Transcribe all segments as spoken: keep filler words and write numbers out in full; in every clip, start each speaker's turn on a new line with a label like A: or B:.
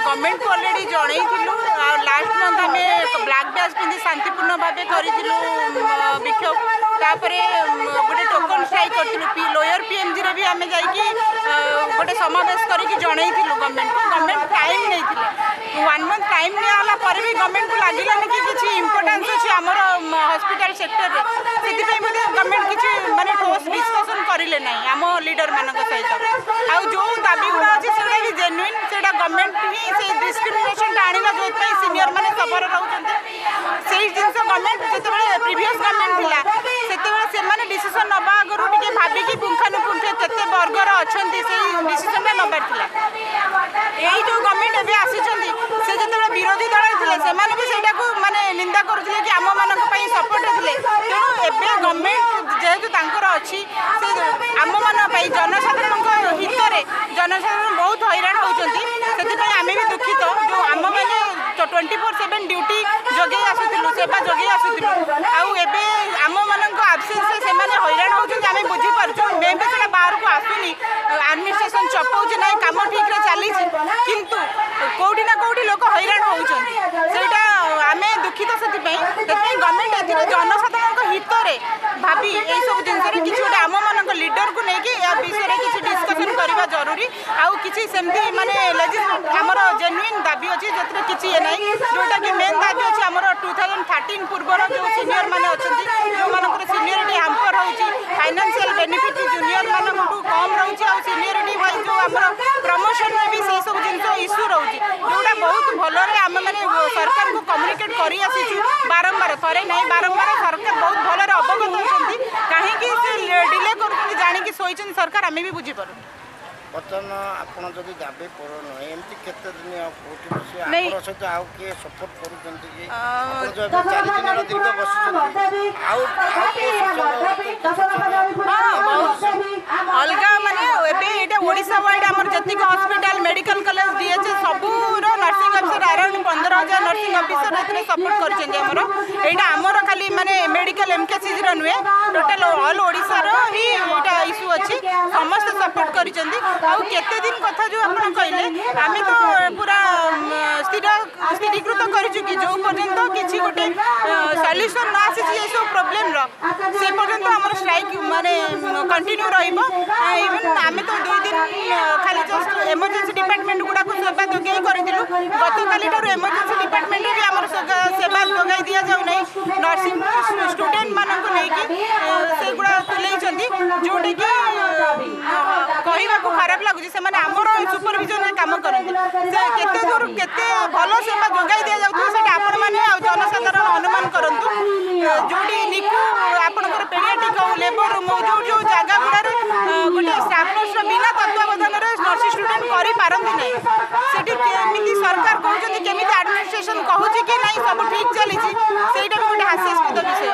A: ଗଭର୍ଣ୍ଣମେଣ୍ଟକୁ already ଜଣେଇଥିଲୁ ଆଉ last month ଆମେ black badge ପିନ୍ଧି ଶାନ୍ତିପୂର୍ଣ୍ଣ ଭାବେ କରିଥିଲୁ ବିକ୍ଷୋଭ ତାପରେ ଗୋଟେ ଟୋକନ୍ ଷ୍ଟ୍ରାଇକ୍ କରିଥିଲୁ ପି ଲୋୟର ପିଏମ୍ଜିରେ ବି ଆମେ ଯାଇକି ଗୋଟେ ସମାବେଶ କରିକି ଜଣେଇଥିଲୁ ଗଭର୍ଣ୍ଣମେଣ୍ଟକୁ ଗଭର୍ଣ୍ଣମେଣ୍ଟ ଟାଇମ୍ ନେଇଥିଲେ ୱାନ୍ ମନ୍ଥ ଟାଇମ୍ ନିଆହେଲା ପରେ ବି ଗଭର୍ଣ୍ଣମେଣ୍ଟକୁ ଲାଗିଲାନି କି କିଛି ଇମ୍ପୋର୍ଟାନ୍ସ ଅଛି ଆମର ହସ୍ପିଟାଲ ସେକ୍ଟରରେ ସେଥିପାଇଁ ବୋଧେ ଗଭର୍ଣ୍ଣମେଣ୍ଟ କିଛି ମାନେ ଠୋସ୍ ଡିସ୍କସନ୍ କରିଲେ ନାହିଁ ଆମ ଲିଡରମାନଙ୍କ ସହିତ ଆଉ ଯେଉଁ ଦାବି ଗୁଡ଼ା ଅଛି ସେଗୁଡ଼ା ବି ଜେନୁଇନ୍ ସେଇଟା ଗଭର୍ଣ୍ଣମେଣ୍ଟ ହିଁ ସେ ଡିସ୍କ୍ରିମିନେସନଟା ଆଣିଲା ଯେଉଁଥିପାଇଁ ସିନିୟର ମାନେ ସଫର ରହୁଛନ୍ତି ସେଇ ଜିନିଷ ଗଭର୍ଣ୍ଣମେଣ୍ଟ ଯେତେବେଳେ ପ୍ରିଭିୟସ୍ ଗଭର୍ଣ୍ଣମେଣ୍ଟ ଥିଲା ସେତେବେଳେ ସେମାନେ ଡିସିସନ୍ ନେବା ଆଗରୁ ଟିକେ ଭାବିକି ପୁଙ୍ଖାନୁପୁଙ୍ଖ କେତେ ବର୍ଗର ଅଛନ୍ତି ସେଇ ଡିସିସନଟା ନେବାର ଥିଲା ଏଇ ଯେଉଁ ଗଭର୍ଣ୍ଣମେଣ୍ଟ ଏବେ ଆସିଛନ୍ତି ସେ ଯେତେବେଳେ ବିରୋଧୀ ଦଳରେ ଥିଲେ ସେମାନେ ବି ସେଇଟାକୁ ମାନେ ନିନ୍ଦା କରୁଥିଲେ କି ଆମମାନଙ୍କ ପାଇଁ ସପୋର୍ଟ ଥିଲେ ତେଣୁ ଏବେ ଗଭର୍ଣ୍ଣମେଣ୍ଟ ଯେହେତୁ ତାଙ୍କର ଅଛି ସେ ଆମମାନଙ୍କ ପାଇଁ ଜନସାଧାରଣଙ୍କ ହିତରେ ଜନସାଧାରଣ ବହୁତ ହଇରାଣ ହେଉଛନ୍ତି ସେଥିପାଇଁ ଆମେ ବି ଦୁଃଖିତ ଯେଉଁ ଆମମାନେ ଟ୍ୱେଣ୍ଟି ଫୋର୍ ସେଭେନ୍ ଡ୍ୟୁଟି ଯୋଗେଇ ଆସୁଥିଲୁ ସେବା ଯୋଗେଇ ଆସୁଥିଲୁ ଆଉ ଏବେ ଆମମାନଙ୍କ ଆବସେନ୍ସରେ ସେମାନେ ହଇରାଣ ହେଉଛନ୍ତି ଆମେ ବୁଝିପାରୁଛୁ ମେ ବି ସେଇଟା ବାହାରକୁ ଆସୁନି ଆଡମିନିଷ୍ଟ୍ରେସନ ଚପାଉଛି ନାହିଁ କାମ ଠିକ୍ରେ ଚାଲିଛି କିନ୍ତୁ କେଉଁଠି ନା କେଉଁଠି ଲୋକ ହଇରାଣ ହେଉଛନ୍ତି ସେଇଟା ଆମେ ଦୁଃଖିତ ସେଥିପାଇଁ ସେଥିପାଇଁ ଗଭର୍ଣ୍ଣମେଣ୍ଟ ଏଥିରେ ଜନସାଧାରଣଙ୍କ ହିତରେ ଭାବି ଏଇସବୁ ଜିନିଷରେ କିଛି ଗୋଟେ ଆମମାନଙ୍କ ଲିଡରକୁ ନେଇକି ୟା ବିଷୟରେ କିଛି ଡିସ୍କସନ୍ କରିବା ଜରୁରୀ ଆଉ କିଛି ସେମିତି ମାନେ ଆମର ଜେନୁଇନ୍ ଦାବି ଅଛି ଯେଉଁଥିରେ କିଛି ଇଏ ନାହିଁ ଯେଉଁଟାକି ମେନ୍ ଦାବି ଅଛି ଆମର ଟୁ ଥାଉଜେଣ୍ଡ ଥାର୍ଟିନ୍ ପୂର୍ବର ଯେଉଁ ସିନିୟର ମାନେ ଅଛନ୍ତି ଯେଉଁମାନଙ୍କର ସିନିୟରିଟି ହ୍ୟାମ୍ପର ହେଉଛି ଫାଇନାନ୍ସିଆଲ ବେନିଫିଟ୍ ଜୁନିୟର ମାନଙ୍କଠୁ କମ୍ ରହୁଛି ଆଉ ସିନିୟରିଟି ୱାଇଜ୍ ଯେଉଁ ଆମର ପ୍ରମୋସନରେ ବି ସେଇ ସବୁ ଜିନିଷ ଇସ୍ୟୁ ରହୁଛି ଯେଉଁଟା ବହୁତ ଭଲରେ ଆମେମାନେ ସରକାରଙ୍କୁ କମ୍ୟୁନିକେଟ୍ କରି ଆସିଛୁ ବାରମ୍ବାର ଥରେ ନାହିଁ ବାରମ୍ବାର ସରକାର ବହୁତ ଭଲରେ ଅବଗତ ଅଛନ୍ତି କାହିଁକି ସେ ଡିଲେ କରୁଛନ୍ତି ଜାଣିକି ଶୋଇଛନ୍ତି ସରକାର ଆମେ ବି ବୁଝିପାରୁନୁ
B: ବର୍ତ୍ତମାନ ଆପଣ ଯଦି ଦାବି ପୂରଣ ନୁହେଁ ଏମିତି କେତେ ଦିନ ଆଉ କୋଉଠି ବସିବେ ଆପଣଙ୍କ ସହିତ ଆଉ କିଏ ସପୋର୍ଟ କରୁଛନ୍ତି କି ଆପଣ ଯୋଉ ଏବେ ଚାରି ଦିନ ହେଲା ଦୀର୍ଘ ବସିଛନ୍ତି ଆଉ ଆଉ
A: ଅଲଗା ମାନେ ଏବେ ଏଇଟା ଓଡ଼ିଶା ୱାଇଡ୍ ଆମର ଯେତିକି ହସ୍ପିଟାଲ ମେଡ଼ିକାଲ କଲେଜ ଡିଏଚଏସ୍ ସବୁର ନର୍ସିଂ ଅଫିସର ଆରାଉଣ୍ଡ ପନ୍ଦର ହଜାର ନର୍ସିଂ ଅଫିସର ଏଥିରେ ସପୋର୍ଟ କରିଛନ୍ତି ଆମର ଏଇଟା ଆମର ଖାଲି ମାନେ ମେଡ଼ିକାଲ ଏମ୍କେସିଜିର ନୁହେଁ ଟୋଟାଲ ଅଲ୍ ଓଡ଼ିଶାର ହିଁ ଏଇଟା ଇସ୍ୟୁ ଅଛି ସମସ୍ତେ ସପୋର୍ଟ କରିଛନ୍ତି ଆଉ କେତେ ଦିନ କଥା ଯେଉଁ ଆପଣ କହିଲେ ଆମେ ତ ପୁରା ସ୍ଥିର ସ୍ଥିରୀକୃତ କରିଛୁ କି ଯେଉଁ ପର୍ଯ୍ୟନ୍ତ କିଛି ଗୋଟେ ସଲ୍ୟୁସନ୍ ନ ଆସିଛି ଏସବୁ ପ୍ରୋବ୍ଲେମର ସେ ପର୍ଯ୍ୟନ୍ତ ଆମର ଷ୍ଟ୍ରାଇକ୍ ମାନେ କଣ୍ଟିନ୍ୟୁ ରହିବ ଇଭେନ୍ ଆମେ ତ ଦୁଇ ଦିନ ଖାଲି ଜଷ୍ଟ ଏମର୍ଜେନ୍ସି ଡିପାର୍ଟମେଣ୍ଟ ଗୁଡ଼ାକୁ ସେବା ଯୋଗାଇ କରିଥିଲୁ ଗତକାଲି ଠାରୁ ଏମର୍ଜେନ୍ସି ଡିପାର୍ଟମେଣ୍ଟରେ ବି ଆମର ସେବା ଯୋଗାଇ ଦିଆଯାଉନାହିଁ ନର୍ସିଂ ଷ୍ଟୁଡେଣ୍ଟମାନଙ୍କୁ ନେଇକି ସେଗୁଡ଼ା ତୁଲେଇଛନ୍ତି ଯେଉଁଟାକି କହିବାକୁ ଖରାପ ଲାଗୁଛି ସେମାନେ ଆମର ସୁପରଭିଜନରେ କାମ କରନ୍ତି ସେ କେତେ ଦୂର କେତେ ଭଲ ସେବା ଯୋଗାଇ ଦିଆଯାଉଥିବ ସେଇଟା ଆପଣମାନେ ଆଉ ଜନସାଧାରଣ ଅନୁମାନ କରନ୍ତୁ ଯେଉଁଠି ନିକୁ ଆପଣଙ୍କର ପେଡ଼ିଆଟ୍ରିକ୍ ହଉ ଲେବର ରୁମ୍ ହଉ ଯେଉଁ ଯେଉଁ ଜାଗା ଗୁଡ଼ାରେ ଗୋଟେ ଷ୍ଟାଫ୍ ନର୍ସର ବିନା ତତ୍ତ୍ୱାବଧାନରେ ନର୍ସିଂ ଷ୍ଟୁଡେଣ୍ଟ କରିପାରନ୍ତି ନାହିଁ ସେଠି କେମିତି ସରକାର କହୁଛନ୍ତି କେମିତି ଆଡମିନିଷ୍ଟ୍ରେସନ କହୁଛି କି ନାହିଁ ସବୁ ଠିକ୍ ଚାଲିଛି ସେଇଟା ବି ଗୋଟେ ହାସ୍ୟାସ୍ପଦ ବିଷୟ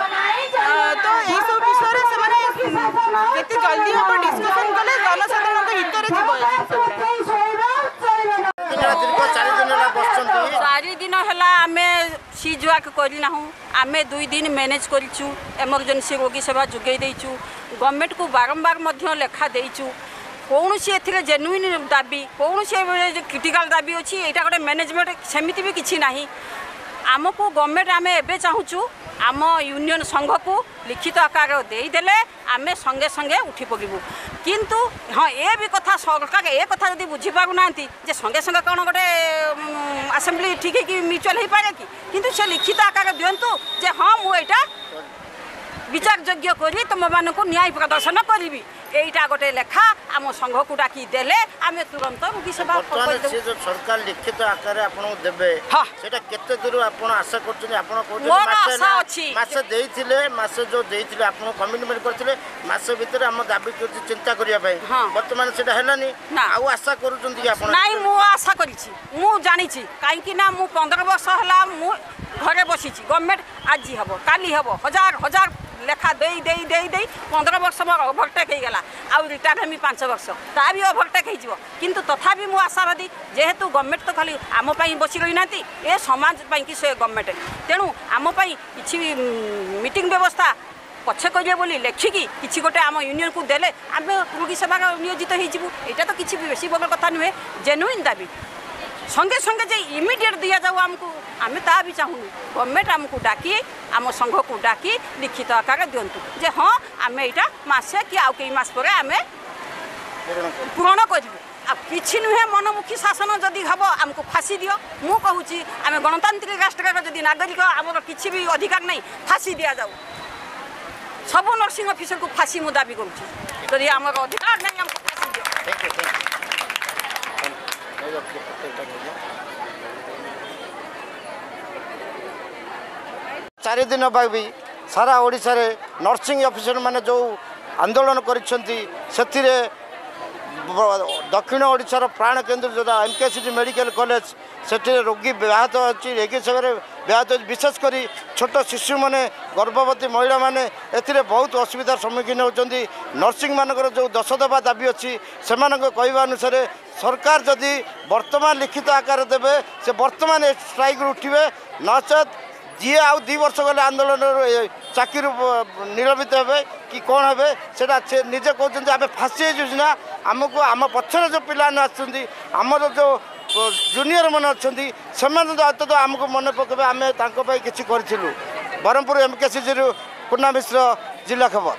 A: ତ ଏଇସବୁ ବିଷୟରେ ସେମାନେ ଯେତେ ଜଲ୍ଦି ହେବ ଡିସ୍କସନ୍ କଲେ ଜନସାଧାରଣଙ୍କ ହିତରେ ଯିବ ଏ ଜିନିଷ
B: ଦୀର୍ଘ ଚାରି ଦିନ ହେଲା ବସିଛନ୍ତି
C: ଚାରି ଦିନ ହେଲା ଆମେ ସିଜ୍ ୱାର୍କ କରିନାହୁଁ ଆମେ ଦୁଇ ଦିନ ମ୍ୟାନେଜ୍ କରିଛୁ ଏମର୍ଜେନ୍ସି ରୋଗୀ ସେବା ଯୋଗାଇ ଦେଇଛୁ ଗଭର୍ଣ୍ଣମେଣ୍ଟକୁ ବାରମ୍ବାର ମଧ୍ୟ ଲେଖା ଦେଇଛୁ କୌଣସି ଏଥିରେ ଜେନୁଇନ୍ ଦାବି କୌଣସି କ୍ରିଟିକାଲ ଦାବି ଅଛି ଏଇଟା ଗୋଟେ ମ୍ୟାନେଜମେଣ୍ଟ ସେମିତି ବି କିଛି ନାହିଁ ଆମକୁ ଗଭର୍ଣ୍ଣମେଣ୍ଟ ଆମେ ଏବେ ଚାହୁଁଛୁ ଆମ ୟୁନିୟନ ସଂଘକୁ ଲିଖିତ ଆକାର ଦେଇଦେଲେ ଆମେ ସଙ୍ଗେ ସଙ୍ଗେ ଉଠି ପଡ଼ିବୁ କିନ୍ତୁ ହଁ ଏ ବି କଥା ସରକାର ଏ କଥା ଯଦି ବୁଝିପାରୁନାହାନ୍ତି ଯେ ସଙ୍ଗେ ସଙ୍ଗେ କ'ଣ ଗୋଟେ ଆସେମ୍ବଲି ଠିକ୍ ହେଇକି ମ୍ୟୁଚୁଆଲ ହେଇପାରେ କି କିନ୍ତୁ ସେ ଲିଖିତ ଆକାର ଦିଅନ୍ତୁ ଯେ ହଁ ମୁଁ ଏଇଟା ବିଚାରଯୋଗ୍ୟ କରି ତୁମମାନଙ୍କୁ ନ୍ୟାୟ ପ୍ରଦର୍ଶନ କରିବି ଏଇଟା ଗୋଟେ ଲେଖା ଆମ ସଂଘକୁ ଡାକି ଦେଲେ ଆମେ ତୁରନ୍ତ ରୋଗୀ ସେବା
B: ବର୍ତ୍ତମାନ ସେ ଯୋଉ ସରକାର ଲିଖିତ ଆକାରରେ ଆପଣଙ୍କୁ ଦେବେ
C: ହଁ।
B: ସେଇଟା କେତେ ଦୂର ଆପଣ ଆଶା କରୁଛନ୍ତି ଆପଣ କହୁଛନ୍ତି
C: ମୋର
B: ମାସେ
C: ଆଶା
B: ହେଲା-
C: ଅଛି।
B: ମାସେ ଦେଇଥିଲେ ମାସେ ଯୋଉ ଦେଇଥିଲେ ଆପଣ କମିଟମେଣ୍ଟ କରିଥିଲେ ମାସେ ଭିତରେ ଆମ ଦାବି କିଛି ଚିନ୍ତା କରିବା ପାଇଁ
C: ହଁ।
B: ବର୍ତ୍ତମାନ ସେଇଟା ହେଲାନି
C: ନା।
B: ଆଉ ଆଶା କରୁଛନ୍ତି କି ଆପଣ
C: ନାଇଁ ମୁଁ ଆଶା କରିଛି ମୁଁ ଜାଣିଛି କାହିଁକି ନା ମୁଁ ପନ୍ଦର ବର୍ଷ ହେଲା ମୁଁ ଘରେ ବସିଛି ଗଭର୍ଣ୍ଣମେଣ୍ଟ ଆଜି ହେବ କାଲି ହେବ ହଜାର ହଜାର ଲେଖା ଦେଇ ଦେଇ ଦେଇ ଦେଇ ପନ୍ଦର ବର୍ଷ ମୋର ଓଭରଟେକ୍ ହେଇଗଲା ଆଉ ରିଟାୟାର୍ଡ ହେମି ପାଞ୍ଚ ବର୍ଷ ତା ବି ଓଭରଟେକ୍ ହେଇଯିବ କିନ୍ତୁ ତଥାପି ମୁଁ ଆଶାବାଦୀ ଯେହେତୁ ଗଭର୍ଣ୍ଣମେଣ୍ଟ ତ ଖାଲି ଆମ ପାଇଁ ବସି ରହିନାହାନ୍ତି ଏ ସମାଜ ପାଇଁକି ସେ ଗଭର୍ଣ୍ଣମେଣ୍ଟ ତେଣୁ ଆମ ପାଇଁ କିଛି ମିଟିଂ ବ୍ୟବସ୍ଥା ପଛେ କରିବେ ବୋଲି ଲେଖିକି କିଛି ଗୋଟେ ଆମ ୟୁନିୟନକୁ ଦେଲେ ଆମେ ରୋଗୀ ସେବାରେ ନିୟୋଜିତ ହେଇଯିବୁ ଏଇଟା ତ କିଛି ବେଶୀ ବଡ଼ କଥା ନୁହେଁ ଜେନୁଇନ୍ ଦାବି ସଙ୍ଗେ ସଙ୍ଗେ ଯେ ଇମିଡ଼ିଏଟ୍ ଦିଆଯାଉ ଆମକୁ, ଆମେ ତା ବି ଚାହୁଁନୁ। ଗଭର୍ଣ୍ଣମେଣ୍ଟ ଆମକୁ ଡାକି, ଆମ ସଂଘକୁ ଡାକି ଲିଖିତ ଆକାରରେ ଦିଅନ୍ତୁ ଯେ ହଁ, ଆମେ ଏଇଟା ମାସେ କି ଆଉ କେଇ ମାସ ପରେ ଆମେ ପୂରଣ କରିବୁ। ଆଉ କିଛି ନୁହେଁ, ମନମୁଖୀ ଶାସନ ଯଦି ହେବ ଆମକୁ ଫାଶୀ ଦିଅ। ମୁଁ କହୁଛି, ଆମେ ଗଣତାନ୍ତ୍ରିକ ରାଷ୍ଟ୍ରର ଯଦି ନାଗରିକ, ଆମର କିଛି ବି ଅଧିକାର ନାହିଁ? ଫାଶୀ ଦିଆଯାଉ ସବୁ ନର୍ସିଂ ଅଫିସରକୁ, ଫାଶୀ ମୁଁ ଦାବି କରୁଛି। ଯଦି ଆମର ଅଧିକାର ନାହିଁ, ଆମକୁ ଫାଶୀ ଦିଅ।
B: ଚାରି ଦିନ ପାଇଁ ସାରା ଓଡ଼ିଶାରେ ନର୍ସିଂ ଅଫିସରମାନେ ଯେଉଁ ଆନ୍ଦୋଳନ କରିଛନ୍ତି, ସେଥିରେ ଦକ୍ଷିଣ ଓଡ଼ିଶାର ପ୍ରାଣକେନ୍ଦ୍ର ଯେଉଁଟା M K C G medical college, ସେଠିରେ ରୋଗୀ ବ୍ୟାହତ ଅଛି, ରୋଗୀ ସେବାରେ ବ୍ୟାହତ ଅଛି। ବିଶେଷ କରି ଛୋଟ ଶିଶୁମାନେ, ଗର୍ଭବତୀ ମହିଳାମାନେ ଏଥିରେ ବହୁତ ଅସୁବିଧାର ସମ୍ମୁଖୀନ ହେଉଛନ୍ତି। ନର୍ସିଂମାନଙ୍କର ଯେଉଁ ଦଶ ଦଫା ଦାବି ଅଛି, ସେମାନଙ୍କ କହିବା ଅନୁସାରେ ସରକାର ଯଦି ବର୍ତ୍ତମାନ ଲିଖିତ ଆକାରରେ ଦେବେ, ସେ ବର୍ତ୍ତମାନ ଏ ଷ୍ଟ୍ରାଇକ୍ରୁ ଉଠିବେ, ନଚେତ୍ ଯିଏ ଆଉ ଦୁଇ ବର୍ଷ ଗଲେ ଆନ୍ଦୋଳନରୁ ଚାକିରିରୁ ନିଲମ୍ବିତ ହେବେ କି କ'ଣ ହେବେ ସେଇଟା ସେ ନିଜେ କହୁଛନ୍ତି। ଆମେ ଫାଶୀ ହେଇଯିବୁ ସିନା, ଆମକୁ ଆମ ପଛରେ ଯେଉଁ ପିଲାମାନେ ଆସୁଛନ୍ତି, ଆମର ଯେଉଁ ଜୁନିୟର ମାନେ ଅଛନ୍ତି, ସେମାନେ ତ ଅନ୍ତତଃ ଆମକୁ ମନେ ପକାଇବେ ଆମେ ତାଙ୍କ ପାଇଁ କିଛି କରିଥିଲୁ। ବ୍ରହ୍ମପୁର ଏମ୍ କେ ସି ଜିରୁ କୁନା ମିଶ୍ର, ଜିଲ୍ଲା ଖବର।